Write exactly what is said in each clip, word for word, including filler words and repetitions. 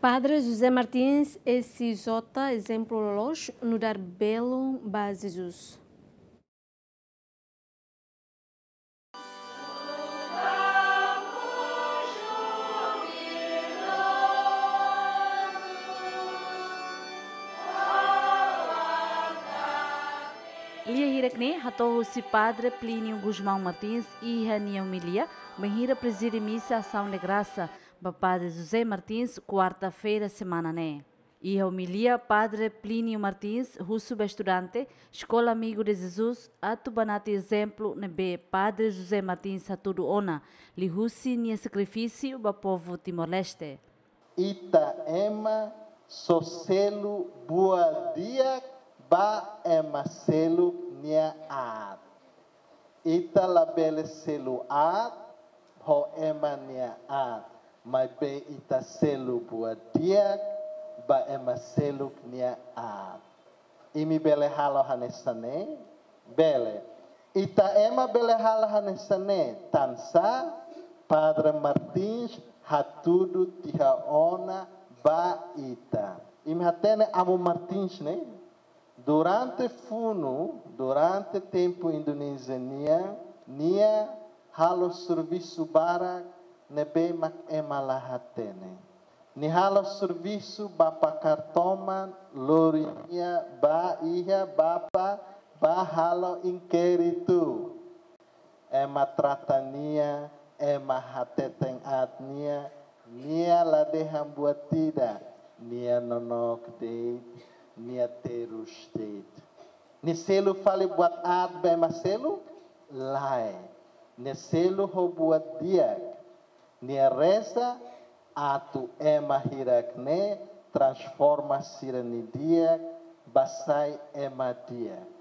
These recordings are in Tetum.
Padre José Martins, S J, ezemplu loloos, nu'udar belun ba Jesus. Lia hirak-ne'e hato'o husi Padre Plínio Gusmão Martins iha nia omilia, bainhira prezide misa Ação de Graça ba Padre José Martins, kuarta-feira semana ne'e. Iha omilia, Padre Plínio Martins husu ba estudante Eskola Amigo de Jesus atu banati ezemplu ne'ebé Padre José Martins hatudu ona, liuhusi nia sakrifísiu ba povu Timor-Leste. Ita ema só selu buat di'ak ba ema seluk nia aat. Ita labele selu aat ho ema nia aat, maibé ita selu buat di'ak ba ema seluk nia aat. Imi bele halo hanesan ne'e? Bele. Ita ema bele halo hanesan ne'e, tansá Padre Martins hatudu tiha ona ba ita. Imi hatene Amu Martins ne'e? Durante funu, durante tempu Indonézia nian, nia halo servisu barak ne'ebé mak ema la hatene. Nia halo servisu ba pakar toman, lori nia ba iha Bapa ba halo inkéritu. Ema trata nia, ema hateten aat nia, nia la dehan buat ida, nia nonook de'it, nia terus de'it. Nia selu fali buat aat ba ema seluk? Lae. Nia selu ho buat di'ak. Nia reza atu ema hirak-ne'e transforma sira-nia di'ak ba sai ema di'ak.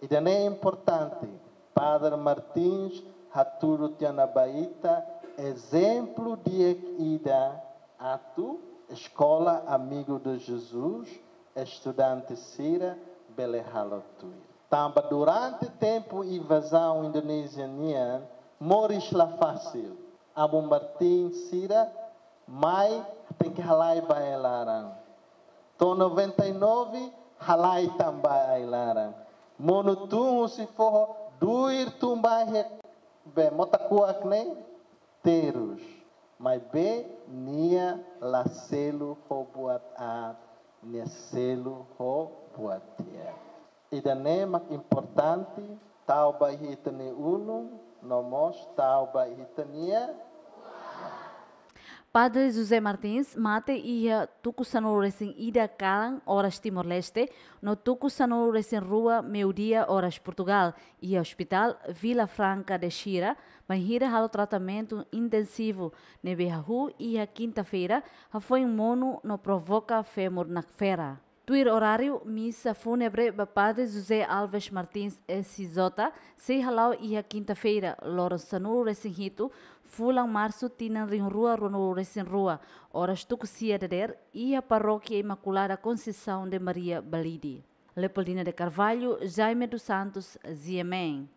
Ida-ne'e importante. Padre Martins hatudu tiha ona ba ita ezemplu di'ak ida atu Eskola Amigo de Jesus, estudante sira bele halo tuir. Tanba durante tempu invazaun Indonézia nian, moris la fasil. Amu Martins sira mai tenke halai ba ai-laran. To'o noventa e nove halai tan ba ai-laran. Monu tun husi foho, duir tun ba iha be mota kuak ne'e terus. Maibé nia la selu ho buat aat, nia selu ho buat di'ak. Ida-ne'e mak importante, tau ba iha ita-nia ulun, no mós tau ba iha ita-nia. Padre José Martins mate iha tuku sanulu-resin-ida kalan oras Timor-Leste, no tuku sanulu-resin-rua meiudia oras Portugal, iha Hospital Vila Franca de Xira, bainhira halo tratamentu intensivu, ne'ebé hahú iha kinta-feira, hafoin monu no provoka femur nakfera. Tuir oráriu, misa fúnebre ba Padre José Alves Martins, S J, sei hala'o iha kinta-feira, loron sanulu-resin-hitu, fulan Marsu, tinan rihun rua ruanulu-resin-rua, oras tuku sia dadeer, iha Parókia Imaculada Conceição de Maria Balide. Leopoldina de Carvalho, Jaime dos Santos, G M N.